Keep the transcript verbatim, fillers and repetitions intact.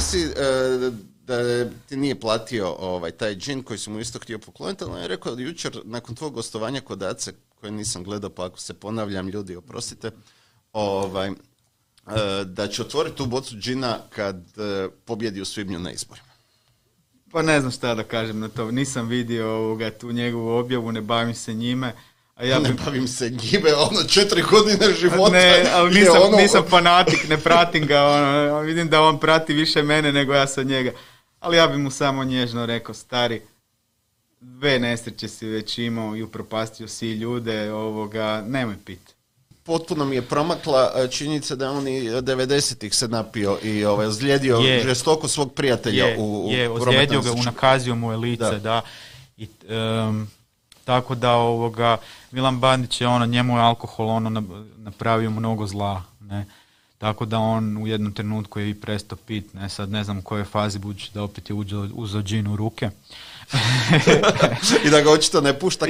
si uh, da ti nije platio ovaj, taj džin koji si mu isto htio pokloniti, ali on je rekao jučer nakon tvog gostovanja kod Ace, koje nisam gledao, pa ako se ponavljam, ljudi, oprostite, ovaj, uh, da će otvoriti tu bocu džina kad uh, pobjedi u svibnju na izborima. Pa ne znam šta da kažem na to. Nisam vidio ovoga, tu njegovu objavu, ne bavim se njime. A ja ne bi... bavim se njime, ono četiri godine života. Ne, ali nisam, ono... nisam fanatik, ne pratim ga. Ono, vidim da on prati više mene nego ja sa njega. Ali ja bi mu samo nježno rekao, stari, dve nesreće si već imao i upropastio si ljude, ovoga, nemoj piti. Potpuno mi je promakla činjenica da on i devedesetih se napio i ovaj, ozlijedio je, žestoko svog prijatelja je, u, u je, ozlijedio ga, unakazio mu je lice, da. da. I, um, tako da ovoga, Milan Bandić je ono, njemu je alkohol ono napravio mnogo zla, ne. Tako da on u jednom trenutku je i prestao pit, ne, sad ne znam u kojoj fazi budući da opet je uzeo džin u ruke. I da ga očito ne pušta.